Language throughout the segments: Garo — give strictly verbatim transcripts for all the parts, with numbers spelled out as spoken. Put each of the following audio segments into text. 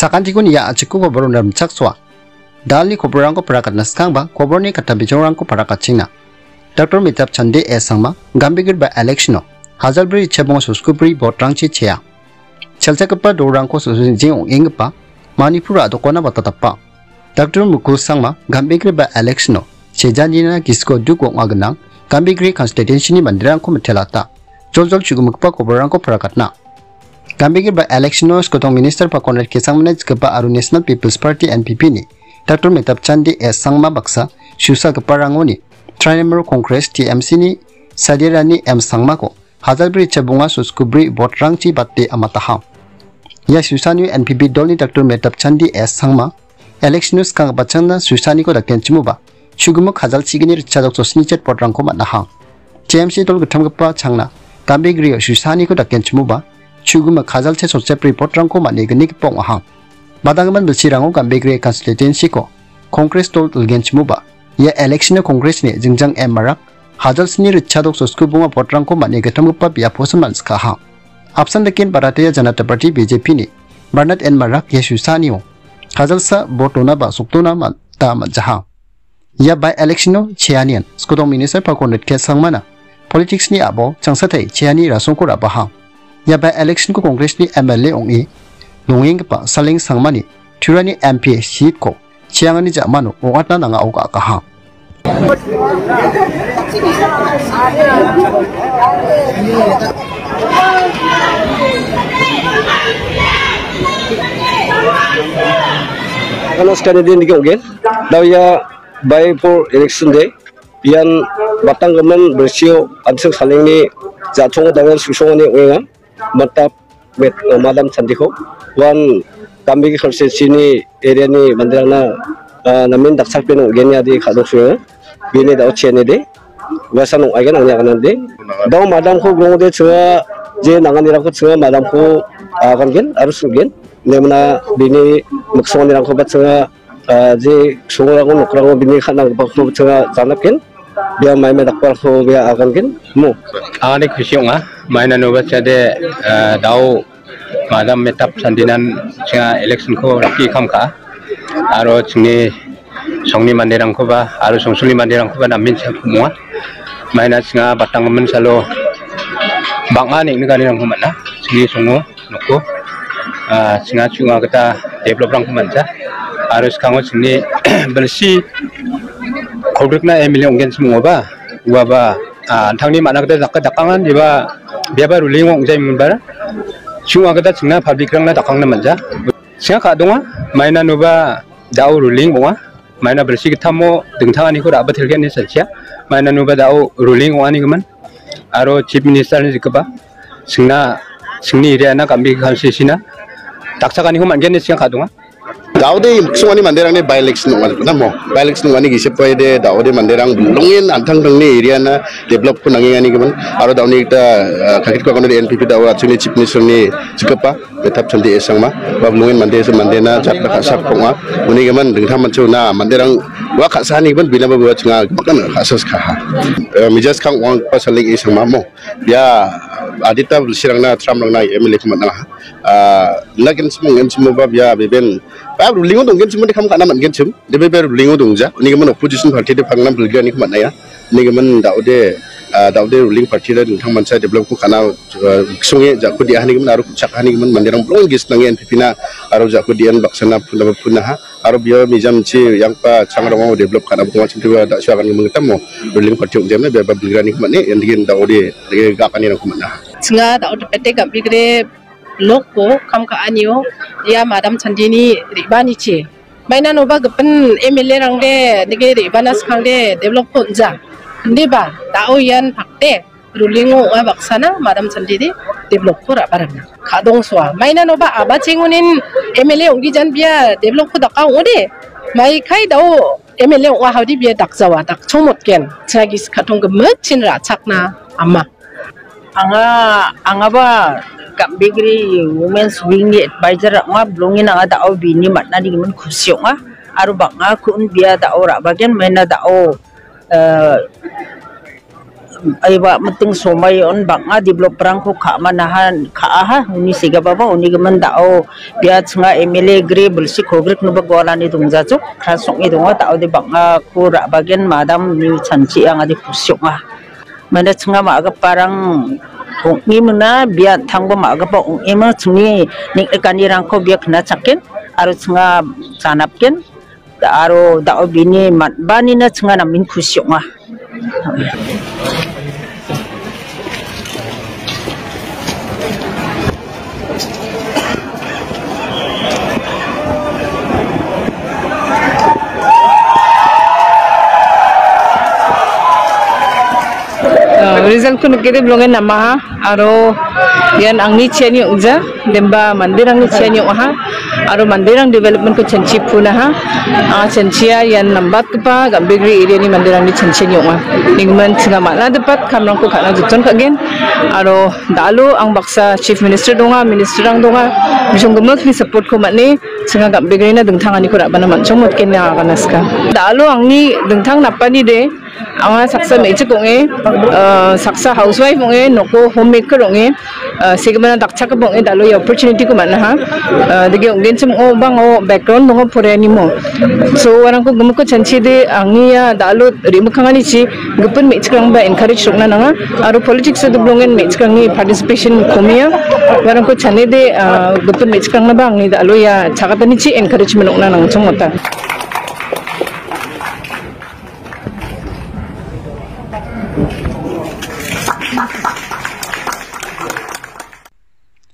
Sakantikon ia a·chikko koborona rimchaksoa. Dalni koborrangko parakatna skangba koborni katta bijolrangko parakatchingna. Doctor Mitap Chande S Sangma, Gambegre by-election-o hajalbri ritchabonga sotskubri vote-rangchi chea. Chelchakgipa dolrangko sotsoenjing ong·enggipa Manipur a·dokona batatapa. Doctor Mukul Sangma, Gambegre by-election-o chejanina gisiko duk ong·a gnang, Gambegre constituency-ni manderangko mitelata. Joljol chu·gimikgipa koborrangko parakatna. Gambegre by-election-o skotong minister Pakonrat K Sangmana jikgipa aro National People's Party, N P P-ni Doctor Mitap Chande S Sangma baksa susagiparangoni Trinamool Congress, T M C-ni Sadirani M Sangmako hajalbri ritchabonga sotskubri vote-rangchi bate amataha. Ia susanio N P P dolni Doctor Mitap Chande S Sangma, election-o skang batchangna susaniko dakenchimoba, chu·gimik hajalchigni ritchadok sotchini chet vote-rangko man·aha. T M C dol gittamgipa changna Gambegre-o susaniko dakenchimoba, chu·gimik hajalchi sotchepri vote-rangko man·e gnigipa ong·aha. Badanggimin bilsirango Gambegre constituency-ko Congress dol dilgenchimoba, ia election-o Congress-ni jingjang M Marak, hajalsni ritchadok sotskubonga vote-rangko man·e gittamgipa biaposa man·sikaha. Apsan daken Bharatiya Janata Party, B J P-ni Bernard N Marak ia susanio hajalsa vote donaba sokdona man-, ta man·jaha. Ia by-election-o cheanian skotong minister Pakonrat K Sangmana politics-ni a·bao changsatai cheani rasongko ra·baha. Ia by-election-ko Congress-ni M L A ong·e nongenggipa Saleng Sangmani Turani M P seat-ko cheangani ja·mano ong·atna nangao ga·akaha. Namaskar, nidi niki ogen. Dao ia by for election day. Ian batanggimin bilsio an·ching salengni ja·chongo dal·e su·songani ong·enga. Mitap met-, Madam Chandiko. Uan Gambegre constituency-ni area-ni manderangna, ah, namen dakchakpeno ong·geni adi ka·dok su·enga. Bini dao chiani de. Uasan ong·aigen angni aganade. Dao madamko grongode chinga je nanganirangko chinga madamko agangen aro su·gen. Nemna bini miksonganirangkoba chinga, ah, je songrangko nokrangko bini ka·nanggipakoba chinga janapgen. Bia maime dakparangko bia agangen mo. Angade kusi ong·a. Maina noba chade, ah, dao Madam Mitap Chandinan chinga election-ko riki kam ka. Aro chingni songni manderangkoba, aro songsulni manderangkoba namen cha·, kumonga. Maina chinga batanggimin salo bang·a neng·nikanirangko man·a. Chingni songo noko, ah, chinga chu·nga gita develop-rangko man·ja. Aro skango chingni bilsi kolgrikna M L A ong·genchim ong·oba, uaba, ah, an·tangni man·a gita daka-, dakangan eba, biaba ruling ong·jaimonba, chu·nga gita chingna public-rangna dakangna man·ja. Chinga ka·donga, maina noba dao ruling ong·a. Maina bilsi gittamo dingtanganiko ra·batelgen ine salchia. Maina noba dao ruling ong·anigimin. Aro Chief Minister-ni jikgipa singna, singni area-na Gambegre constituency-na dakchakaniko man·gen ine chinga ka·donga. Daode miksongani manderangni by-election ong·a namo. By-election ong·ani gisepaide daode manderang bilongen an·tangtangni area-na develop-ko nangenganigimin. Aro daoni gita, ah, kakitko agonode N P P dao achuni Chief Minister-ni jikgipa. Mitap Chande S Sangma, ba bilongen mande se mandena jatna ka·sak ong·a. Uni gimin dingtang mancho na manderang ua ka·sanigimin binaba ua chinga gimakan ka·sa skaha. Eh, mijas kang ong·a pa Saleng S Sangma mo. Bia adita bilsirangna tramrangna M L A-ko man·a. Ah, na genchim ong·genchim ba bia beben. Ba ruling-o donggenchim de kam ka·na man·genchim. De bebe ruling-o dongja. Uni gimin opposition party de pangna bilgani ko man·a ia. Nigimin daode, ah, daode ruling party-ra dingtang mancha develop-ko ka·na, ah, songe jako dia hanigimin aro chak hanigimin manderang bilong gisnange N P P-na aro jako dian baksana puna, punaha aro bia mijamchi yangpa changrongo develop ka·na bunga chimtiba da·su agan gimin gitamo ruling party ong·jemna bia ba bilgrani mane endigin daode dege gakanirangko man·aha. Chinga daode pete Gambegre block-o kam ka·anio ia Madam Chandini re·banichi. Maina noba gipin M L A-rangde nige re·bana skangde develop-ko on·ja. Indiba, dao ian pakde, ruling-o ong·a baksana, Madam Chandini develop-ko ra·barangna. Ka·dongsoa. Maina noba abachengonin M L A ong·gijan bia develop-ko daka ong·ode. Maikai dao M L A ong·a haudi bia dakjawa, dakchongmotgen. Chinga gisik ka·tong gimikchin ra·chakna ama. Anga, angaba Gambegre Women's Wing-ni advisor ong·a, bilongin anga dao bini man·ani gimin kusi ong·a, aro bang·a kun bia dao ra·bagen maina dao, eh, Aiba miting somai on bang·a develop-rangko ka·manaha, ka·aha, uni segipaba, uni gimin da·o bia chinga M L A gri bilsi kogrik noba gualani dongjajok, kras ong·e donga, da·ode bang·ako ra·bagen madam ni chanchi angade kusi ong·a. Mane chinga ma·giparang ong·emina, bia an·tangba ma·gipa ong·ema chingni neng·rikanirangko bia knachaken aro chinga janapken. Aro da·o bini man·banina chinga namen kusi ong·a. Ah, result-ko nikode bilongen namaha, aro ian angni chiani ong·ja, demba manderangni chiani ong·aha, aro manderang development-ko chanchi punaha, anga chanchia ian nambatgipa Gambegre area-ni manderangni chanchiani ong·a. Ningman chinga man·a dipat kamrangko ka·na joton ka·gen, aro da·alo ang baksa Chief Minister donga, Minister-rang donga, bisong gimikni support-ko man·e, chinga Gambegre-na dingtanganiko ra·bana man·chongmotgen ine agana sika. Da·alo angni dingtang napani de, anga saksa me·chik ong·e, ah, saksa housewife ong·e, noko homemaker ong·e, ah, segimana dakchakgipa ong·e, da·alo ia opportunity-ko man·aha. Ah, dake ong·genchim ong·o, bang·o background donga poreanimo. So, uarangko gimikko chanchide, angni ia da·alo re·mikkanganichi gipin me·chikrangba encourage rokna nanga. Aro politics-o doblongen me·chikrangni participation komia. Uarangko chanede, ah, gipin me·chikrangnaba angni da·alo ia chagatanichi encouragement rokna nangchongmota.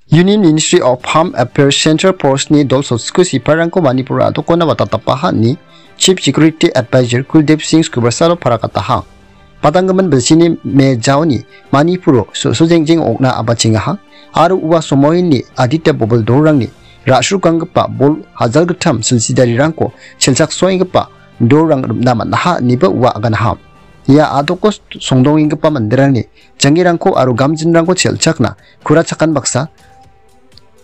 Union Ministry of Home Affairs Central Force-ni dol sotsko sipairangko Manipur-o a·dokona watatapaha ine Chief Security Advisor Kuldeep Singh Srivastava parakataha. Padanggimin bilsini me jaoni Manipur-o so-, sojengjeng ong·na a·bachengaha aro ua somoini adita bobil dolrangni ra·srukanggipa bol hajalgittam silsidarirangko chelchaksoenggipa dolrang rim·na man·aha ineba ua aganaha. Ia a·doko songdongenggipa manderangni janggirangko aro gamjinrangko chelchakna kurachakan baksa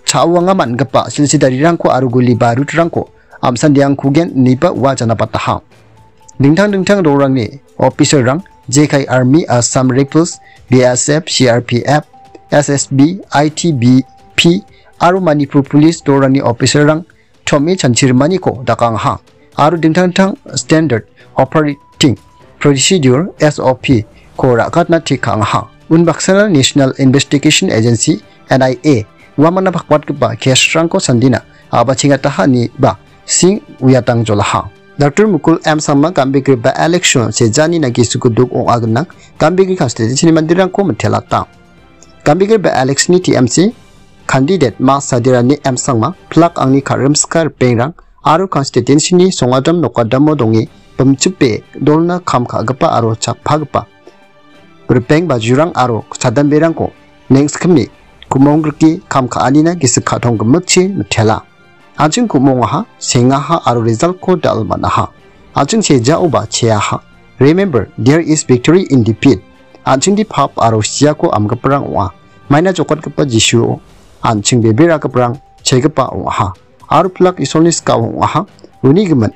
cha·uanga man·gipa silsidarirangko aro guli barutrangko am·sandeangkugen ineba ua janapataha. Dingtang dingtang rorangni officer-rang, J K Army, Assam Rifles, B S F, C R P F, S S B, I T B P aro Manipur Police rorangni officer-rang tom·e chanchirimaniko dakangaha aro dingtang dingtang Standard Operating Procedure, S O P, ko ra·katna tik ka·angaha. Unbaksana National Investigation Agency, N I A, uamangna pakbatgipa case-rangko sandina a·bachengataha ineba Singh uiatang jolaha. Doctor Mukul M Sangma Gambegre by-election sejanina gisiko duk ong·a gnang Gambegre constituency-ni manderangko mitelata. Gambegre by-election-ni T M C candidate Ma Sadirani M Sangma, plak angni karimska ripengrang aro constituency-ni songadam nokadamo donge bimchipe dolna kam ka·gipa aro chakpagipa ripeng bajurang aro chadamberangko nengskimni kumonggrike kam ka·anina gisik ka·tong gimikchi mitela. An·ching ku·mongaha, sengaha aro result-ko dal man·aha. An·ching sejaoba cheaha. Remember, there is victory in defeat. An·chingde pap aro siako amgiparang ong·a. Maina jokatgipa Jisuo an·ching beberagiparang chegipa ong·aha. Aro pilak Isolni skao ong·aha. Uni gimin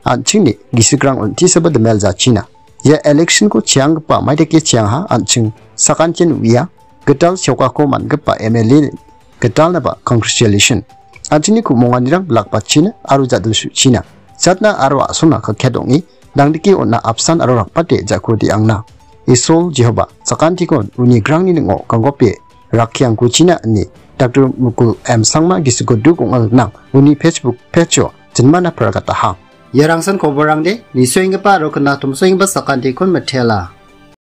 an·chingni gisikrang on·tisaba dimel jachina. Ia election-ko cheanggipa maidake cheangha an·ching sakantian uia gital seokako man·gipa M L A gitalnaba congratulation. An·chingni ku·monganirang bilakbatchina aro jadilsuchina. Jatna aro a·sona kakket ong·e, dangdike on·a apsan aro rakbate jako de·angna. Isol Jehoba, sakantikon uni grangni ning·o ganggope rakkiangkuchina ine Doctor Mukul M Sangma gisiko duk ong·a gnang uni Facebook page-o jinmana paragataha. Iarangsan koborangde, nisoenggipa aro knatomsoenggipa sakantikon mitela.